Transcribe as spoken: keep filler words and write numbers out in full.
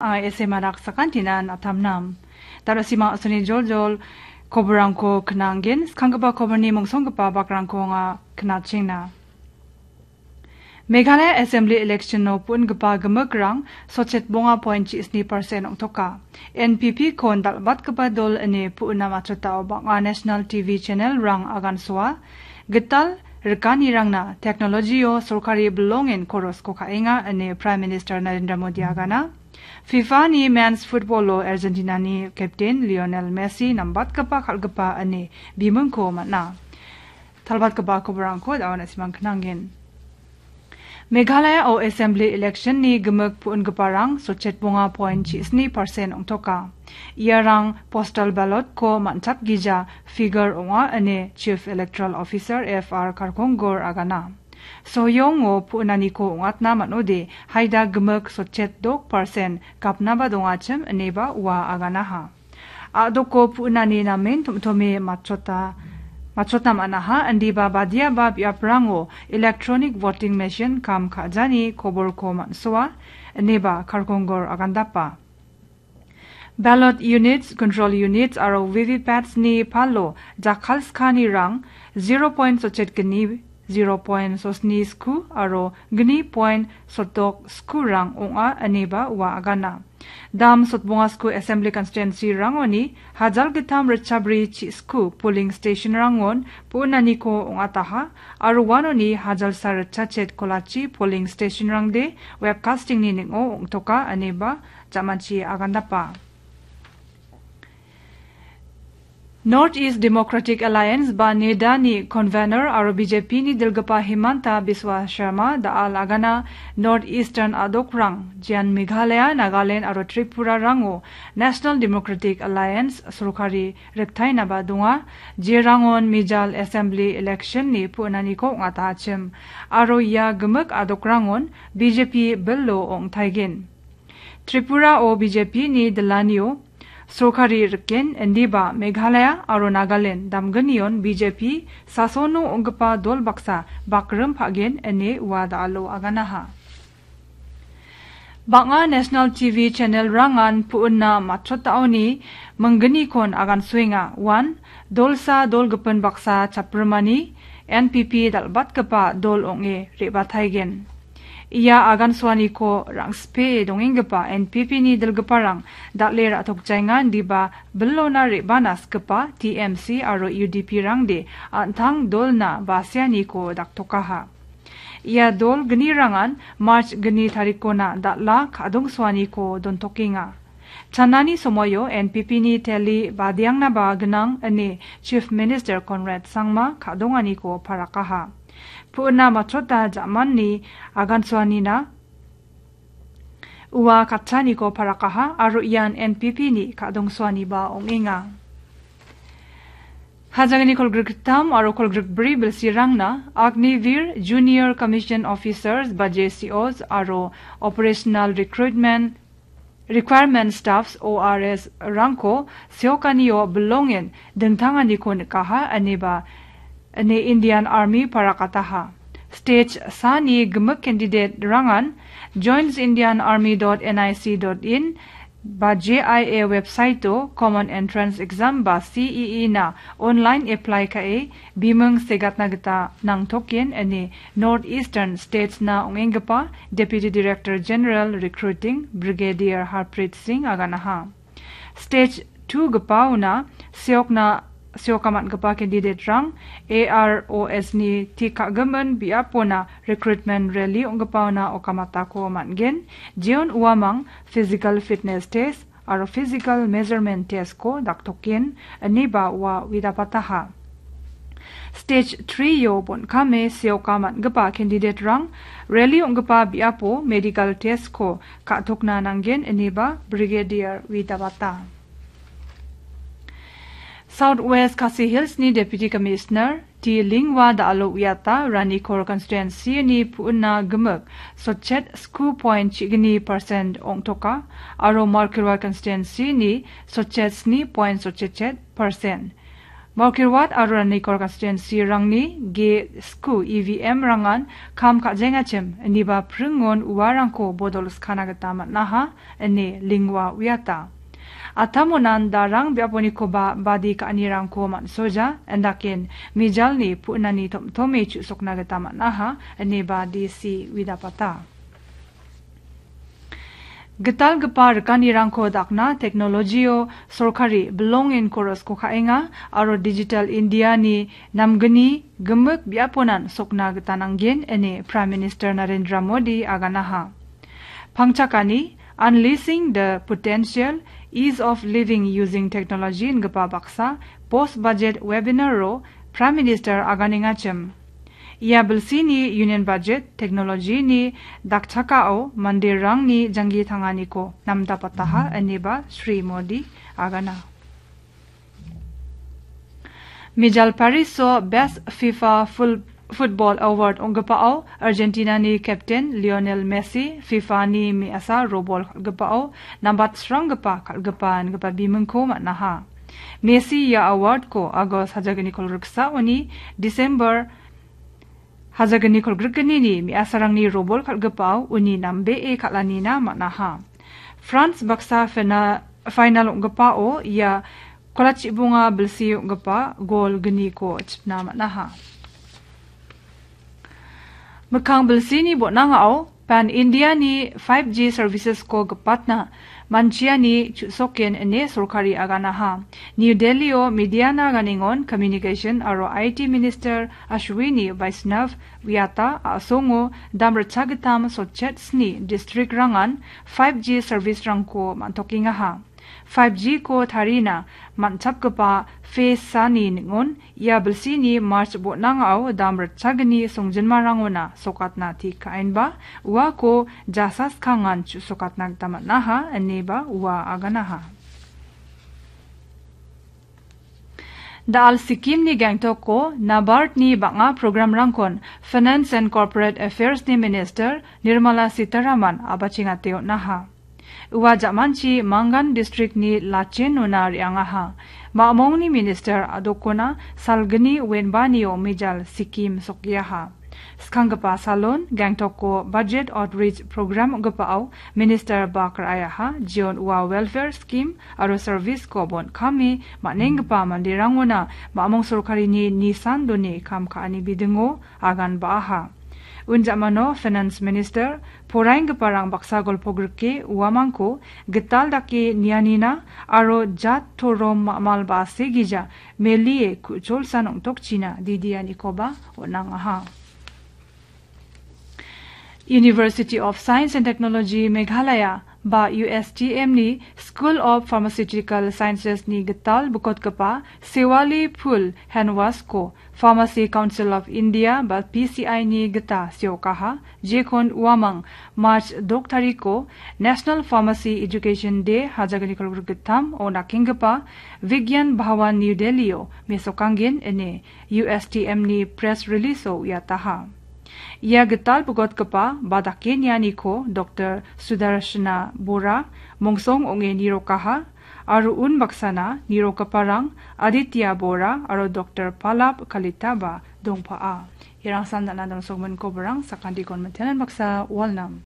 Anga S M R aksakantinan atamnam. Darasima asuni joljol koborangko knanggen, skanggipa koborni mongsonggipa bakrangko anga knachengna. Meghalaya Assembly election-o pu·ingipa gimikrang sotchet bonga point chi sni percent ong·toka. N P P-kon dal·batgipa dol ine pu·ina matchotao bang·a national T V channel-rang agansoa. Gital rikanirangna technology-o sorkari bilongen korosko ka·enga ine Prime Minister Narendra Modi agana. FIFA-ni Men's Football-o Argentina-ni captain Lionel Messi nambatgipa kal·gipa ine bimingko man·a. Talbatgipa koborangko da·o na·simang knangen. Meghalaya-o Assembly election-ni gimik pu·ingiparang sotchet bonga point chi sni percent ong·toka. Iarang postal ballot-ko man·chapgija figure ong·a ine Chief Electoral Officer F R Kharkongor agana. Soyongo pu·naniko ong·atna man·ode haida gimik sotchet dok percent gapnaba dongachim ineba ua aganaha. A·doko pu·nani namen tom·tome matchota, matchotna man·aha, indiba badiaba biaprango electronic voting machine kam ka·jani koborko man·soa, ineba Kharkongor agandapa. Ballot units, control units aro V V Pats-ni palo jakkalskanirang zero point sotchet gni, zero point sosni sku aro gni point sotok skurang ong·a, ineba ua agana. Dam sotbongasku Assembly Constituency-rangoni hajal gittam ritchabri chi·sku polling station-rangon pu·naniko ong·ataha aro uanoni hajalsa ritchachet kolachi polling station-rangde webcasting-ni ning·o ong·toka ineba jamanchi agandapa. North East Democratic Alliance ba NEDA-ni convener aro B J P-ni dilgipa Himanta Biswa Sharma da·al agana North Eastern a·dokrang, jean Meghalaya, Nagaland aro Tripura-rango National Democratic Alliance sorkari riktainaba donga, jerangon mijal assembly election-ni pu·naniko ong·atachim aro ia gimik a·dokrangon B J P bilo ong·taigen. Tripura-o B J P-ni dilanio sorkari riken, indiba Meghalaya aro Nagaland damgnion B J P sasono ong·gipa dol baksa bakrim pa·gen ine ua da·alo aganaha. Bang·a national T V channel-rangan pu·na matchotaoni mingginikon agansoenga. Uan dolsa dol gipin baksa chaprimani N P P dal·batgipa dol ong·e re·bataigen. Ia agansoaniko rang·sipee dongenggipa N P P-ni dilgiparang dal·e ra·tokjaenga, indiba bilona re·bana sikgipa T M C aro U D P-rangde an·tang dolna baseaniko daktokaha. Ia dol gnirangan March gni tarikona dal·a ka·dongsoaniko dontokenga. Chanani somoio N P P-ni teli badiangnaba gnang ine Chief Minister Conrad Sangma ka·donganiko parakaha. Pu·na matchota ja·manni agansoanina ua katchaniko parakaha aro ian N P P-ni ka·dongsoaniba ong·enga. Hajangni kolgrikgittam aro kolgrikbri bilsirangna Agniveer Junior Commission Officers ba J C Os aro Operational Recruitment Requirement Staffs, O R S, rangko seokanio bilongen dingtanganiko nikaha, ineba ine Indian Army parakataha. Stage sani gimik candidate-rangan joins indian army dot N I C dot in ba J I A website-o Common Entrance Exam ba C E E na online apply ka·e biming segatna gita nangtoken ine North Eastern States-na ong·enggipa Deputy Director General Recruiting Brigadier Harpreet Singh aganaha. Stage two gipaona seokna, seoka man·gipa candidate-rang A R O S-ni tik ka·gimin biapona recruitment rally ong·gipaona okamatako man·gen. Jeon uamang physical fitness test aro physical measurement test-ko daktoken, ineba ua uidapataha. Stage three-o bon·kame seoka man·gipa candidate-rang rally ong·gipa biapo medical test-ko ka·tokna nanggen, ineba Brigadier uidabata. South West Khasi Hills-ni Deputy Commissioner T Lingwa da·alo uiata Ranikor Constituency-ni pu·na gimik sotchet sku point chigni percent ong·toka aro Markirwa Constituency-ni sotchet sni point sotchet percent. Mawkyrwat aro Ranikor constituency-rangni G sku E V M-rangan kam ka·jengachim, iniba pringon uarangko bodol skana gita man·aha, ine Lingwa uiata. Atamonan darang biaponikoba badi ka·anirangko man·soja, indaken mijalni pu·nani tom·tome chu·sokna gita man·aha, ineba D C uidapata. Gitalgipa rikanirangko dakna teknolojio sorkari bilongen korosko ka·enga aro Digital India-ni namgni gimik biaponan sokna gita nanggen, ine Prime Minister Narendra Modi aganaha. Pangchakani Unleashing the Potential, Ease of Living Using Technology ingipa baksa post budget webinar-o Prime Minister aganengachim. Ia bilsini Union Budget technology-ni dakchakao manderangni janggi tanganiko namdapataha, ineba Shri Modi agana. Mijal Paris-o Best FIFA Full Football Award ong·gipao Argentina-ni captain Lionel Messi FIFA-ni me·asa robol kal·gipao nambatsranggipa kal·gipa ingipa bimingko man·aha. Messi ia award-ko August hajagniko riksaoni December hajagniko grikgnini me·asarangni robol kal·gipao uni nambee kal·anina man·aha. France baksa fina-, final ong·gipao ia kolachibonga bilsi ong·gipa gol gniko chipna man·aha. Mikkang bilsini botnangao Pan India-ni five G services-ko gipatna manchiani chu·soken ine sorkari aganaha. New Delhi-o mediana ganingon Communication aro I T Minister Ashwini Vaishnaw uiata a·songo dam ritchagittam sotchet sni district-rangan five G service-rangko man·tokengaha. Five G-ko tarina man·chapgipa phase sani ning·on, ia bilsini March botnangao dam ritchagni songjinmarangona sokatna tik ka·enba, uako jasaskangan chu·sokatna gita man·aha, ineba ua aganaha. Da·al Sikkim-ni Gangtok-o NABARD-ni bang·a programrangkon Finance and Corporate Affairs-ni Minister Nirmala Sitharaman a·bachengate on·aha. Ua ja·manchi Mangan district-ni Lachen-ona re·angaha. Ma·mongni minister a·dokona salgni wenbanio mijal Sikkim sokiaha. Skanggipa salon Gangtok-o budget outreach program ong·gipao minister bak ra·aiaha, jeon ua welfare scheme aro service-ko bon·kame man·enggipa manderangona ma·mong sorkarini nisan done kam ka·ani bidingo agan ba·aha. Unjamano Finance Minister poraienggiparang baksa golpo grike uamangko gital dake nianina aro jat torom ma·mal ba·se gija melie ku·cholsan ong·tokchina didianikoba on·angaha. University of Science and Technology Meghalaya ba U S T M-ni School of Pharmaceutical Sciences-ni gital bikotgipa Sewali Phul Handwash-ko Pharmacy Council of India ba P C I-ni gita seokaha, jekon uamang March dok tariko National Pharmacy Education Day hajagniko gittam o dakenggipa Vigyan Bhawan New Delhi-o mesokanggen ine U S T M-ni press release-o uiataha. Ia gital bikotgipa ba dake nianiko Doktor Sudarshana Bora, mongsong ong·e nirokaha, aro unbaksana nirokgiparang Aditya Bora aro Doktor Palab Kalitaba dongpa'a. Irangsan dana dongsogimin koborang sakantikon mitenan baksa walnam.